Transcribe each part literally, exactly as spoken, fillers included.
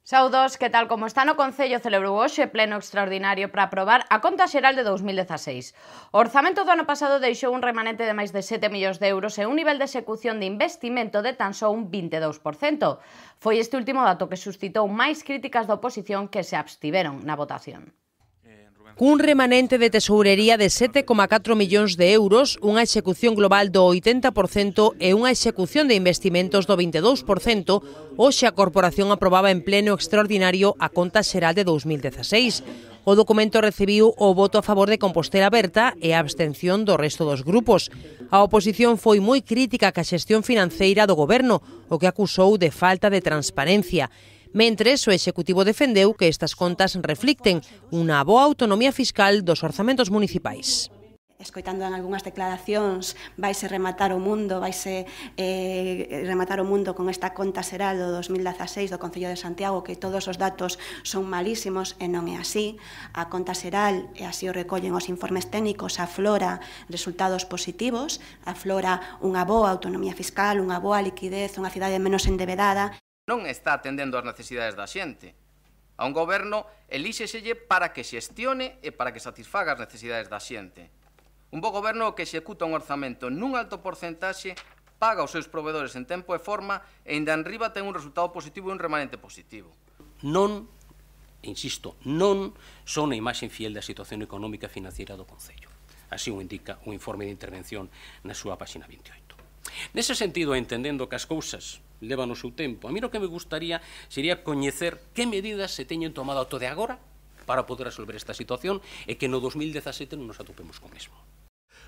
Saudos, que tal como está no Concello, celebrou hoxe pleno extraordinario para aprobar a conta xeral de dous mil dezaseis. O orzamento do ano pasado deixou un remanente de máis de sete millóns de euros e un nivel de execución de investimento de tan só un vinte e dous por cento. Foi este último dato que suscitou máis críticas da oposición que se abstiveron na votación. Cun remanente de tesourería de sete coma catro millóns de euros, unha execución global do oitenta por cento e unha execución de investimentos do vinte e dous por cento, hoxe a Corporación aprobaba en pleno extraordinario a conta xeral de dous mil dezaseis. O documento recibiu o voto a favor de Compostela Aberta e a abstención do resto dos grupos. A oposición foi moi crítica ca xestión financeira do goberno, o que acusou de falta de transparencia. Mentres, o Executivo defendeu que estas contas reflicten unha boa autonomía fiscal dos orzamentos municipais. Escoitando en algunhas declaracións, vaise rematar o mundo, vaise eh, rematar o mundo con esta conta xeral do dos mil dezaseis do Concello de Santiago, que todos os datos son malísimos, e non é así. A conta xeral, e así o recollen os informes técnicos, aflora resultados positivos, aflora unha boa autonomía fiscal, unha boa liquidez, unha cidade menos endebedada. Non está atendendo as necesidades da xente. A un goberno elíxeselle para que xestione e para que satisfaga as necesidades da xente. Un bo goberno que executa un orzamento nun alto porcentaxe, paga os seus provedores en tempo e forma e ainda enriba ten un resultado positivo e un remanente positivo. Non, insisto, non son a imaxe fiel da situación económica e financiera do Concello. Así o indica o informe de intervención na súa páxina vinte e oito. Nese sentido, entendendo que as cousas levan o seu tempo, a mí o que me gustaría sería coñecer que medidas se teñen tomado ata de agora para poder resolver esta situación e que no dos mil dezasete non nos atopemos con mesmo.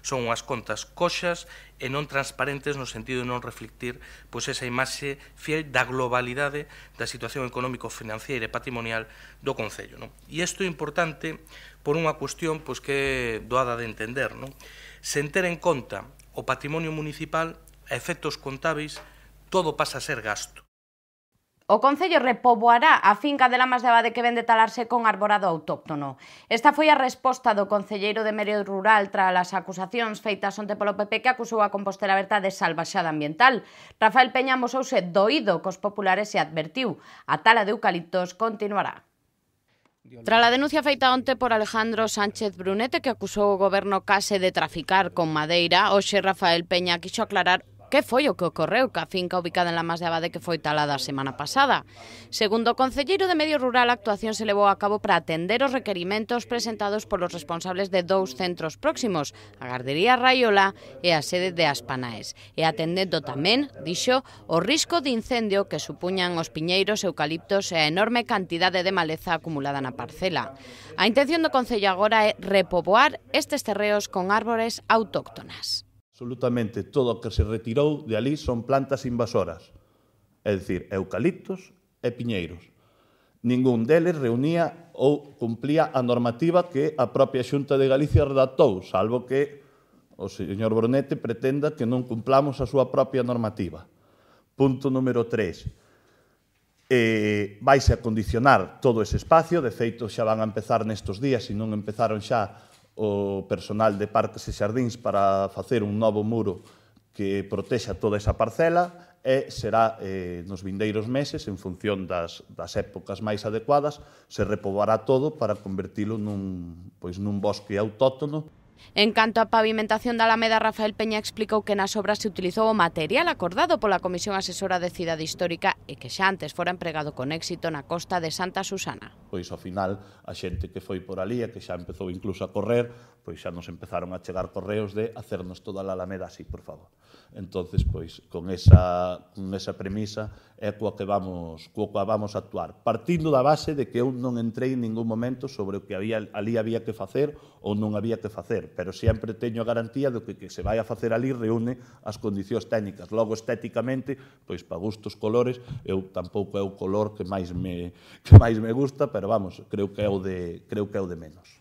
Son unhas contas coxas e non transparentes no sentido de non reflectir pois, esa imaxe fiel da globalidade da situación económico-financiera e patrimonial do Concello. Non? E isto é importante por unha cuestión pois, que é doada de entender. Non? Sen ter en conta o patrimonio municipal, a efectos contábeis, todo pasa a ser gasto. O Concello repoboará a finca de Lamas de Abade que ven de talarse con arborado autóctono. Esta foi a resposta do concelleiro de Medio Rural tras as acusacións feitas onte polo P P que acusou a Compostela Aberta de salvaxada ambiental. Rafael Peña amosouse doído cos populares e advertiu: a tala de eucaliptos continuará. Tras a denuncia feita onte por Alejandro Sánchez Brunete, que acusou o goberno case de traficar con madeira, hoxe Rafael Peña quixo aclarar que foi o que ocorreu ca finca ubicada en Lamas de Abade que foi talada a semana pasada. Segundo o concelleiro de Medio Rural, a actuación se levou a cabo para atender os requerimentos presentados polos responsables de dous centros próximos, a Gardería Raiola e a sede de Aspanaes, e atendendo tamén, dixo, o risco de incendio que supuñan os piñeiros, eucaliptos e a enorme cantidade de maleza acumulada na parcela. A intención do Concello agora é repoboar estes terreos con árbores autóctonas. Absolutamente todo o que se retirou de ali son plantas invasoras, é dicir, eucaliptos e piñeiros. Ningún deles reunía ou cumplía a normativa que a propia Xunta de Galicia redactou, salvo que o señor Brunete pretenda que non cumplamos a súa propia normativa. Punto número tres. Eh, vaise a condicionar todo ese espacio, de feito xa van a empezar nestes días, se non empezaron xa o personal de Parques e Xardíns para facer un novo muro que protexa toda esa parcela e será eh, nos vindeiros meses, en función das, das épocas máis adecuadas, se repoboará todo para convertilo nun, pois, nun bosque autóctono. En canto á pavimentación da Alameda, Rafael Peña explicou que nas obras se utilizou o material acordado pola Comisión Asesora de Cidade Histórica e que xa antes fora empregado con éxito na costa de Santa Susana. Pois ao final a xente que foi por ali e que xa empezou incluso a correr, pois xa nos empezaron a chegar correos de hacernos toda a Alameda así, por favor. Entonces, pois, con esa, con esa premisa é coa que vamos, coa vamos a actuar. Partindo da base de que eu non entrei en ningún momento sobre o que había, ali había que facer ou non había que facer, pero sempre teño a garantía de que que se vai a facer ali reúne as condicións técnicas. Logo, estéticamente, pois, para gustos colores, eu tampouco é o color que máis me, que máis me gusta, pero vamos, creo que é o de, creo que é o de menos.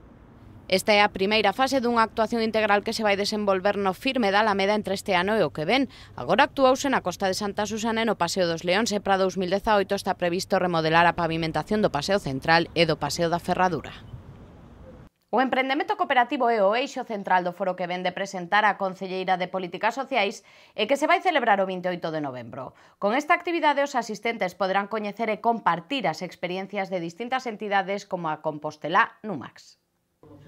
Esta é a primeira fase dunha actuación integral que se vai desenvolver no firme da Alameda entre este ano e o que ven. Agora actuouse na costa de Santa Susana e no Paseo dos Leóns e para dous mil dezaoito está previsto remodelar a pavimentación do Paseo Central e do Paseo da Ferradura. O emprendemento cooperativo é o eixo central do foro que vende presentar a Concelleira de Políticas Sociais e que se vai celebrar o vinte e oito de novembro. Con esta actividade os asistentes poderán coñecer e compartir as experiencias de distintas entidades como a Compostelá Numax.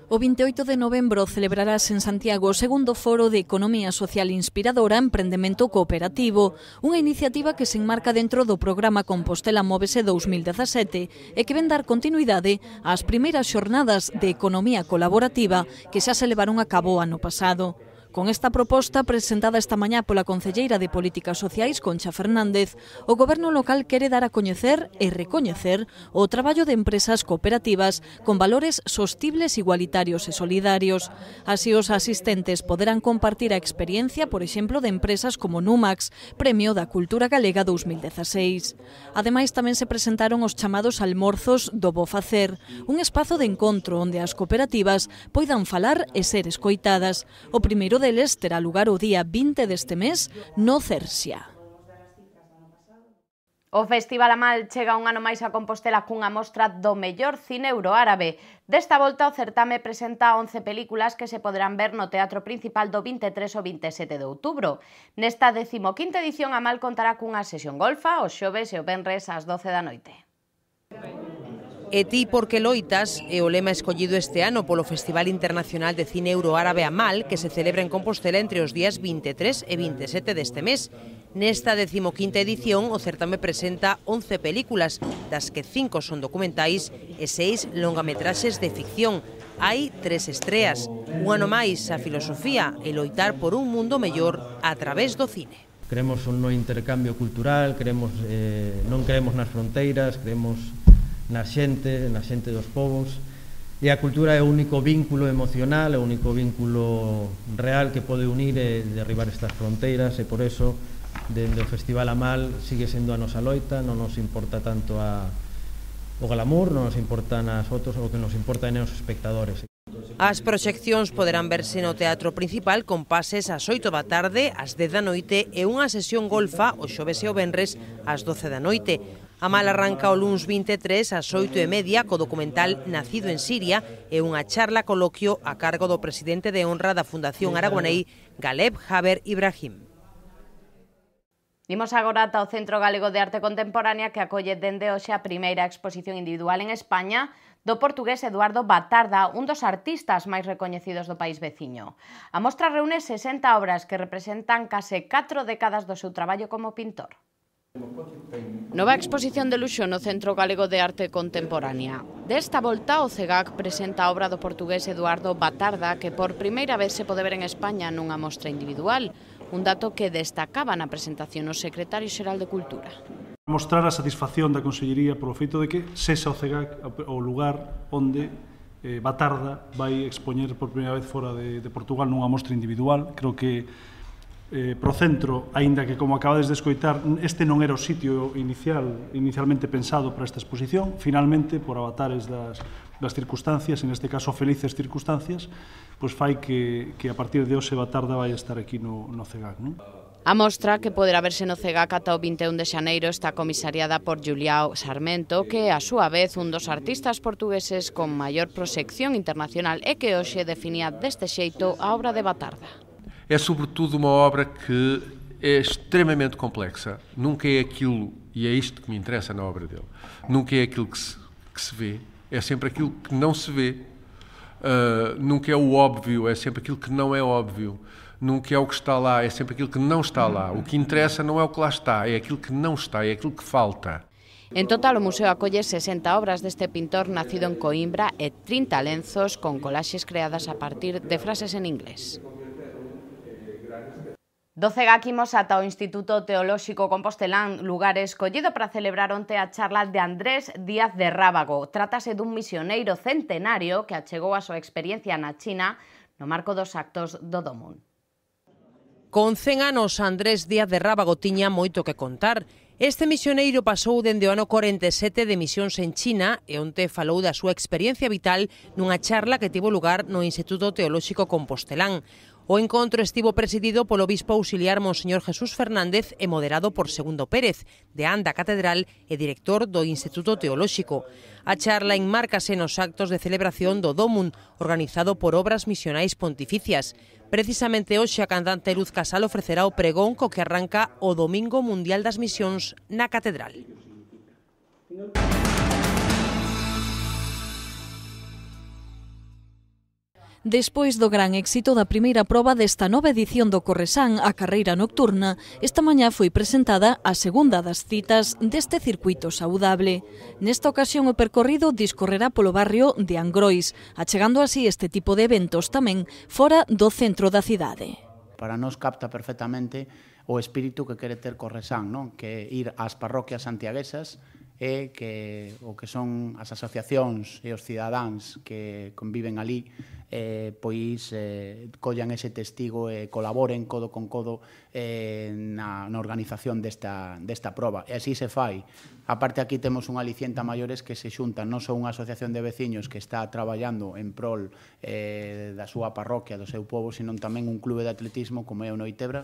O vinte e oito de novembro celebrarás en Santiago o segundo foro de Economía Social Inspiradora Emprendemento Cooperativo, unha iniciativa que se enmarca dentro do programa Compostela Móvese dous mil dezasete e que ven dar continuidade ás primeiras xornadas de Economía Colaborativa que xa se levaron a cabo ano pasado. Con esta proposta, presentada esta mañá pola Concelleira de Políticas Sociais, Concha Fernández, o Goberno local quere dar a coñecer e recoñecer o traballo de empresas cooperativas con valores sostibles, igualitarios e solidarios. Así, os asistentes poderán compartir a experiencia, por exemplo, de empresas como Numax, Premio da Cultura Galega dous mil dezaseis. Ademais, tamén se presentaron os chamados almorzos do Bo Facer, un espazo de encontro onde as cooperativas poidan falar e ser escoitadas. O primeiro deles terá lugar o día vinte deste mes no Cersia. O Festival Amal chega un ano máis a Compostela cunha mostra do mellor cine euroárabe. Desta volta o certame presenta once películas que se poderán ver no Teatro Principal do vinte e tres ao vinte e sete de outubro. Nesta decimoquinta edición Amal contará cunha sesión golfa os xoves e o venres ás doce da noite. E ti porque loitas é o lema escollido este ano polo Festival Internacional de Cine Euroárabe Amal, que se celebra en Compostela entre os días vinte e tres e vinte e sete deste mes. Nesta decimoquinta edición, o certame presenta once películas, das que cinco son documentais e seis longametraxes de ficción. Hai tres estreas, un ano máis a filosofía e loitar por un mundo mellor a través do cine. Creemos no intercambio cultural, creemos, eh, non creemos nas fronteiras, creemos na xente, na xente dos povos, e a cultura é o único vínculo emocional, é o único vínculo real que pode unir e derribar estas fronteiras, e por eso, dende o Festival Amal, sigue sendo a nosa loita, non nos importa tanto a, o glamour, non nos importan as fotos, o que nos importa é os espectadores. As proxeccións poderán verse no Teatro Principal con pases ás oito da tarde, ás dez da noite e unha sesión golfa o xoves e o venres ás doce da noite. Amal arranca o luns vinte e tres ás oito e media co documental Nacido en Siria e unha charla coloquio a cargo do presidente de honra da Fundación Aragonei, Galeb Haber Ibrahim. Imos agora ata o Centro Galego de Arte Contemporánea que acolle dende hoxe a primeira exposición individual en España do portugués Eduardo Batarda, un dos artistas máis recoñecidos do país veciño. A mostra reúne sesenta obras que representan case catro décadas do seu traballo como pintor. Nova exposición de luxo no Centro Galego de Arte Contemporánea. Desta volta, o CEGAC presenta a obra do portugués Eduardo Batarda, que por primeira vez se pode ver en España nunha mostra individual, un dato que destacaba na presentación o secretario xeral de Cultura. Mostrar a satisfacción da Consellería polo feito de que sexa o CEGAC o lugar onde eh, Batarda vai expoñer por primeira vez fora de, de Portugal nunha mostra individual. Creo que Eh, pro centro, aínda que como acabades de escoitar, este non era o sitio inicial, inicialmente pensado para esta exposición, finalmente, por avatares das, das circunstancias, en este caso felices circunstancias, pois fai que, que a partir de hoxe Batarda vai estar aquí no, no CEGAC, non? A mostra, que poderá verse no CEGAC ata o vinte e un de xaneiro, está comisariada por Juliao Sarmento, que, a súa vez, un dos artistas portugueses con maior proxección internacional e que hoxe definía deste xeito a obra de Batarda. É sobretudo uma obra que é extremamente complexa. Nunca é aquilo, e é isto que me interessa na obra dele, nunca é aquilo que se, que se vê, é sempre aquilo que não se vê. Uh, nunca é o óbvio, é sempre aquilo que não é óbvio. Nunca é o que está lá, é sempre aquilo que não está lá. O que interessa não é o que lá está, é aquilo que não está, é aquilo que falta. En total, o museo acolle sesenta obras deste pintor nacido en Coimbra e trinta lenzos con colaxes creadas a partir de frases en inglés. Do CEGAC imos ata o Instituto Teolóxico Compostelán, lugar escollido para celebrar onte a charla de Andrés Díaz de Rábago. Trátase dun misioneiro centenario que achegou a súa experiencia na China no marco dos actos do Domún. Con cen anos, Andrés Díaz de Rábago tiña moito que contar. Este misioneiro pasou dende o ano corenta e sete de misións en China e onte falou da súa experiencia vital nunha charla que tivo lugar no Instituto Teolóxico Compostelán. O encontro estivo presidido polo bispo auxiliar Monseñor Jesús Fernández e moderado por Segundo Pérez, deán da Catedral e director do Instituto Teolóxico. A charla enmárcase nos actos de celebración do Dómun, organizado por Obras Misionais Pontificias. Precisamente hoxe a cantante Luz Casal ofrecerá o pregón co que arranca o Domingo Mundial das Misións na Catedral. Despois do gran éxito da primeira proba desta nova edición do Corresán, a carreira nocturna, esta mañá foi presentada a segunda das citas deste circuito saudable. Nesta ocasión o percorrido discorrerá polo barrio de Angrois, achegando así este tipo de eventos tamén fora do centro da cidade. Para nós capta perfectamente o espírito que quere ter Corresán, non? Que ir ás parroquias santiaguesas e que o que son as asociacións e os cidadáns que conviven ali eh, pois eh, collan ese testigo e colaboren codo con codo eh, na, na organización desta, desta proba. E así se fai. A parte aquí temos un aliciente a maiores que se xuntan non só unha asociación de veciños que está traballando en prol eh, da súa parroquia, do seu povo, senón tamén un clube de atletismo como é o Noitebra.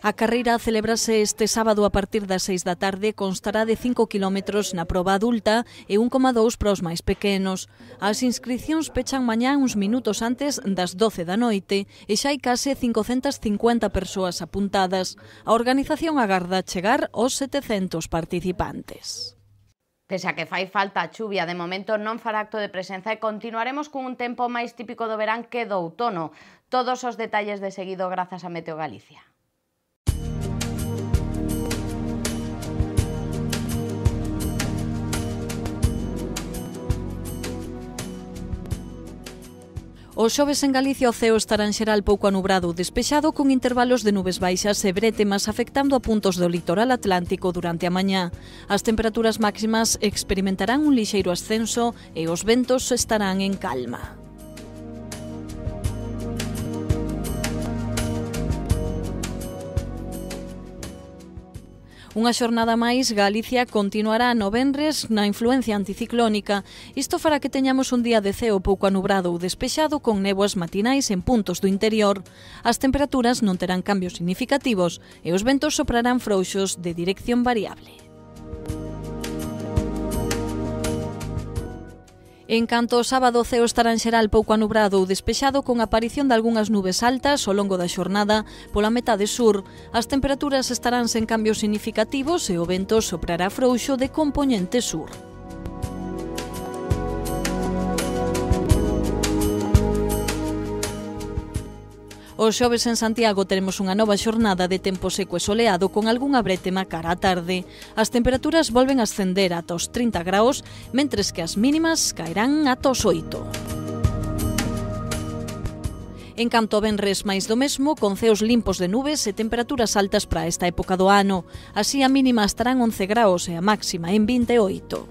A carreira celebrase este sábado a partir das seis da tarde, constará de cinco kilómetros na proba adulta e un coma dous para os máis pequenos. As inscricións pechan mañá uns minutos antes das doce da noite e xa hai case cincocentas cincuenta persoas apuntadas. A organización agarda chegar aos setecentos participantes. Pese a que fai falta a chuvia, de momento non fará acto de presenza e continuaremos cun tempo máis típico do verán que do outono. Todos os detalles de seguido grazas a Meteo Galicia. O xoves en Galicia o ceo estará en xeral pouco anubrado ou despexado con intervalos de nubes baixas e brétemas afectando a puntos do litoral atlántico durante a mañá. As temperaturas máximas experimentarán un lixeiro ascenso e os ventos estarán en calma. Unha xornada máis, Galicia continuará no venres na influencia anticiclónica. Isto fará que teñamos un día de ceo pouco anubrado ou despexado con néboas matinais en puntos do interior. As temperaturas non terán cambios significativos e os ventos soprarán frouxos de dirección variable. En canto ao sábado, o ceo estará en xeral pouco anubrado ou despexado con a aparición de algunhas nubes altas ao longo da xornada pola metade sur. As temperaturas estarán sen cambios significativos e o vento soprará frouxo de compoñente sur. O xoves en Santiago teremos unha nova xornada de tempo seco e soleado con algunha brétema cara á tarde. As temperaturas volven a ascender ata os trinta graus, mentres que as mínimas caerán ata os oito. En canto ao venres máis do mesmo, con ceos limpos de nubes e temperaturas altas para esta época do ano. Así a mínima estarán once graus e a máxima en vinte e oito.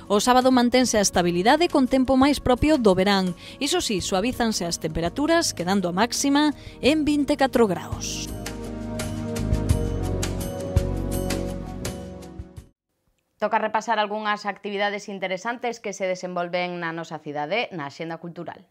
O sábado mantense a estabilidade con tempo máis propio do verán. Iso sí, suavízanse as temperaturas, quedando a máxima en vinte e catro graus. Toca repasar algunhas actividades interesantes que se desenvolven na nosa cidade na axenda cultural.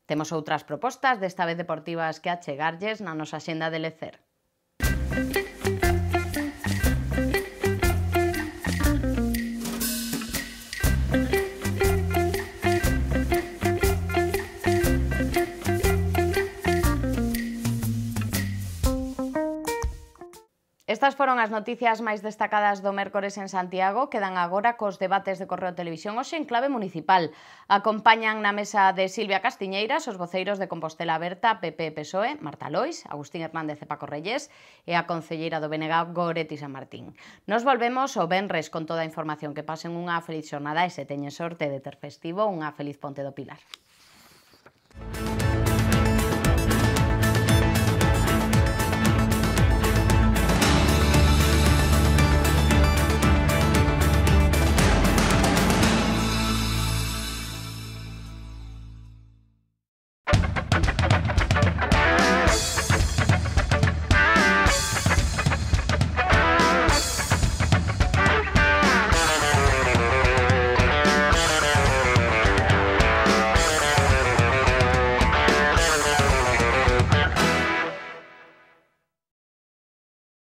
Temos outras propostas, desta vez deportivas, que achegarlles na nosa axenda de lecer. Estas foron as noticias máis destacadas do mércores en Santiago. Quedan agora cos debates de Correo Televisión hoxe en clave municipal. Acompañan na mesa de Silvia Castiñeiras os voceiros de Compostela Aberta, P P e P S O E, Marta Lois, Agustín Hernández e Paco Reyes e a concelleira do B N G, Goretti San Martín. Nos volvemos o venres con toda a información. Que pasen unha feliz xornada e se teñen sorte de ter festivo, unha feliz Ponte do Pilar.